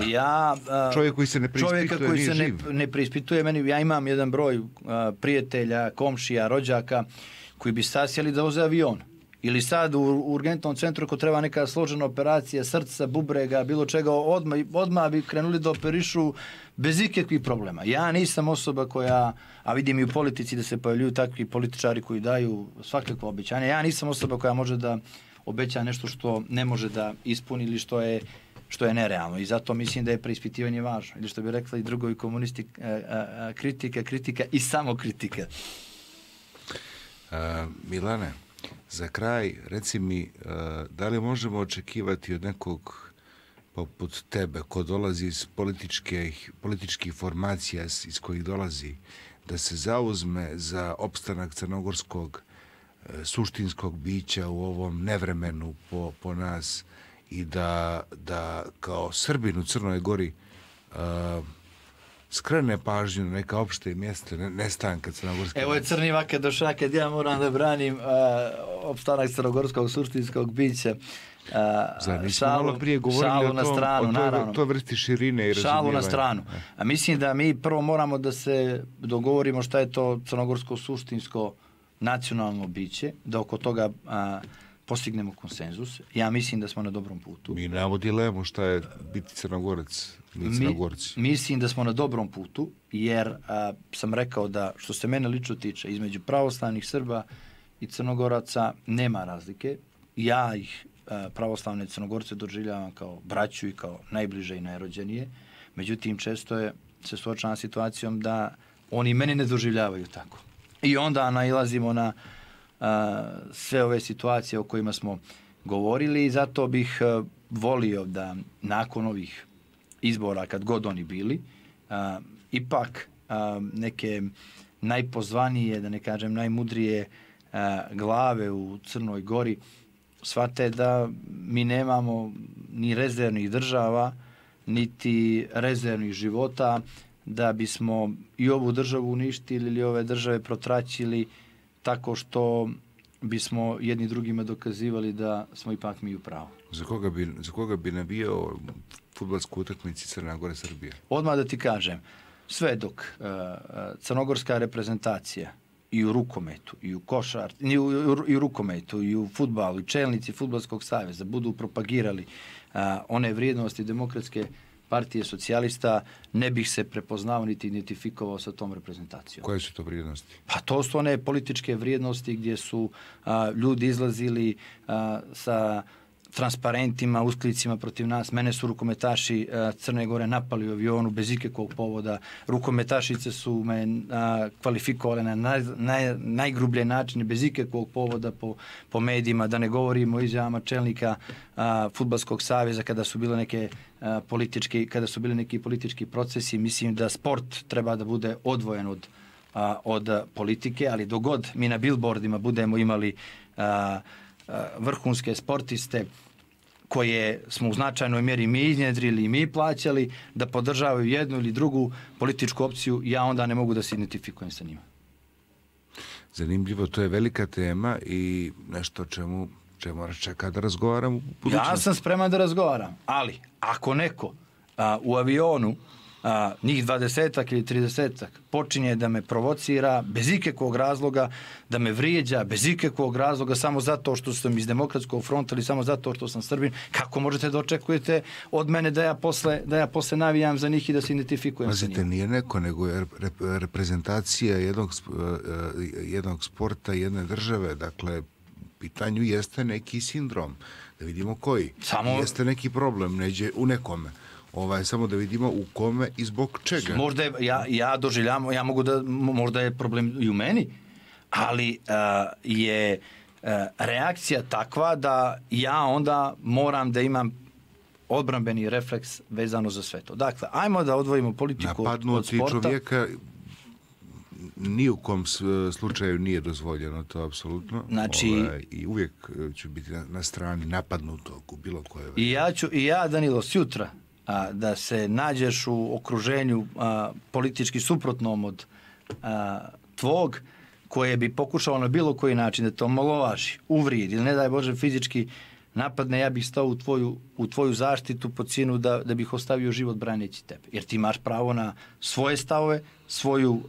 Čovjek koji se ne preispituje čovjeka koji nije se živ. ne preispituje, ja imam jedan broj prijatelja, komšija, rođaka koji bi stasjeli da voze avion. Ili sad u urgentnom centru ako treba neka složena operacija srca, bubrega, bilo čega, odmah bi krenuli da operišu bez ikakvih problema. Ja nisam osoba koja, a vidim i u politici da se pojavljuju takvi političari koji daju svakakvo obećanje, ja nisam osoba koja može da obeća nešto što ne može da ispuni ili što je nerealno. I zato mislim da je preispitivanje važno. Ili što bi rekli i drugovi komunisti, kritika i samo kritika. Milane, za kraj, reci mi, da li možemo očekivati od nekog poput tebe, ko dolazi iz političkih formacija iz kojih dolazi, da se zauzme za opstanak crnogorskog suštinskog bića u ovom nevremenu po nas i da kao Srbin u Crnoj Gori skrene pažnju na neka opšte mjesta nestanka crnogorske. Evo je crni vake došao kad ja moram da branim opstanak crnogorskog suštinskog bića. Šalu na stranu, naravno. To vrsti širine i razumijevanja. Šalu na stranu. A mislim da mi prvo moramo da se dogovorimo šta je to crnogorsko suštinsko nacionalno biće, da oko toga postignemo konsenzus. Ja mislim da smo na dobrom putu. Mi nemamo dilemu šta je biti Crnogorac, mi Crnogorci. Mislim da smo na dobrom putu, jer sam rekao da, što se mene lično tiče, između pravoslavnih Srba i Crnogoraca nema razlike. Ja ih, pravoslavne Crnogorce, doživljavam kao braću i kao najbliže i najrođenije. Međutim, često se suočavam situacijom da oni mene ne doživljavaju tako. I onda nailazimo na sve ove situacije o kojima smo govorili i zato bih volio da nakon ovih izbora, kad god oni bili, ipak neke najpozvanije, da ne kažem najmudrije glave u Crnoj Gori shvate da mi nemamo ni rezervnih država, niti rezervnih života, da bismo i ovu državu uništili ili ove države protraćili tako što bismo jedni drugima dokazivali da smo ipak mi u pravu. Za koga bi nabijao fudbalsku utakmicu Crna Gora Srbija? Odmah da ti kažem, sve dok crnogorska reprezentacija i u rukometu, i u i u rukometu, i u fudbalu, i čelnici Fudbalskog saveza budu propagirali one vrijednosti demokratske partije socijalista, ne bih se prepoznao niti identifikovao sa tom reprezentacijom. Koje su to vrijednosti? Pa to su one političke vrijednosti gdje su ljudi izlazili sa transparentima, usklicima protiv nas. Mene su rukometaši Crne Gore napali u avionu bez ikakvog povoda. Rukometašice su me kvalifikovale na najgrublje načine, bez ikakvog povoda po medijima, da ne govorimo o izjavama čelnika Fudbalskog saveza kada su bile neki politički procesi. Mislim da sport treba da bude odvojen od politike, ali dogod mi na billboardima budemo imali vrhunske sportiste koje smo u značajnoj mjeri mi iznjedrili i mi plaćali da podržavaju jednu ili drugu političku opciju, ja onda ne mogu da se identifikujem sa njima. Zanimljivo, to je velika tema i nešto čemu nas čeka da razgovaram u budućnosti. Ja sam spreman da razgovaram, ali ako neko u avionu njih 20-ak ili 30-ak počinje da me provocira bez ikakvog razloga, da me vrijeđa bez ikakvog razloga samo zato što sam iz Demokratskog fronta ili samo zato što sam Srbin, kako možete da očekujete od mene da ja posle navijam za njih i da se identifikujem sa njima? Pazite, nije neko, nego je reprezentacija jednog sporta, jedne države, dakle, pitanju jeste neki sindrom, da vidimo koji. Jeste neki problem, neđe u nekome. Samo da vidimo u kome i zbog čega. Možda ja doživljam, možda je problem i u meni, ali je reakcija takva da ja onda moram da imam odbrambeni refleks vezano za sve to. Dakle, ajmo da odvojimo politiku od sporta. Napadnuti čovjeka ni u kom slučaju nije dozvoljeno, to apsolutno. Znači, i uvijek ću biti na strani napadnutog u bilo koje. I ja, Danilo, sjutra da se nađeš u okruženju politički suprotnom od tvog, koje bi pokušao na bilo koji način da te omalovaži, uvrijedi ili ne daj Bože fizički napadne, ja bih stao u tvoju zaštitu po cijenu da bih ostavio život braneći tebe. Jer ti imaš pravo na svoje stavove, svoju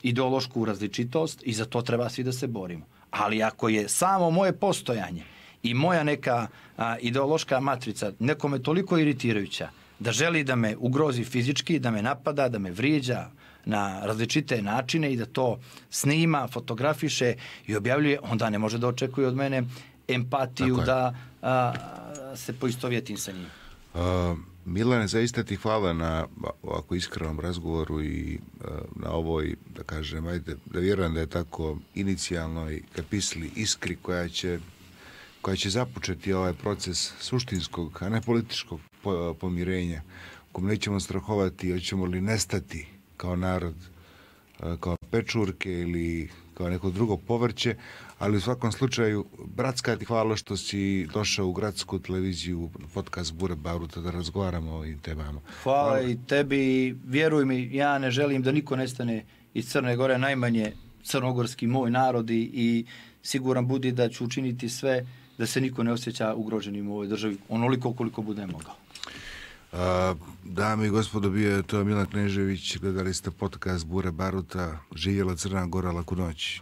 ideološku različitost i za to treba svi da se borimo. Ali ako je samo moje postojanje i moja neka ideološka matrica nekome toliko iritirajuća da želi da me ugrozi fizički, da me napada, da me vrijeđa na različite načine i da to snima, fotografiše i objavljuje, onda ne može da očekuje od mene empatiju da se poistovjetim sa njim. Milane, zaista ti hvala na ovako iskrenom razgovoru i na ovoj, da kažem, ajde, da vjerujem da je tako inicijalnoj kapisli iskri koja će započeti ovaj proces suštinskog, a ne političkog pomirenja, u kom nećemo strahovati, hoćemo li nestati kao narod, kao pečurke ili kao neko drugo povrće, ali u svakom slučaju, bratska ti hvala što si došao u gradsku televiziju, podcast Bure Baruta, da razgovaramo o ovim temama. Hvala i tebi, vjeruj mi, ja ne želim da niko nestane iz Crne Gore, najmanje crnogorski moj narod i siguran budi da ću učiniti sve da se niko ne osjeća ugroženim u ovoj državi, onoliko koliko bude mogao. Dame i gospodo, bio je to Milan Knežević, gledali ste podcast Bure Baruta, živjela Crna Gora, laku noć.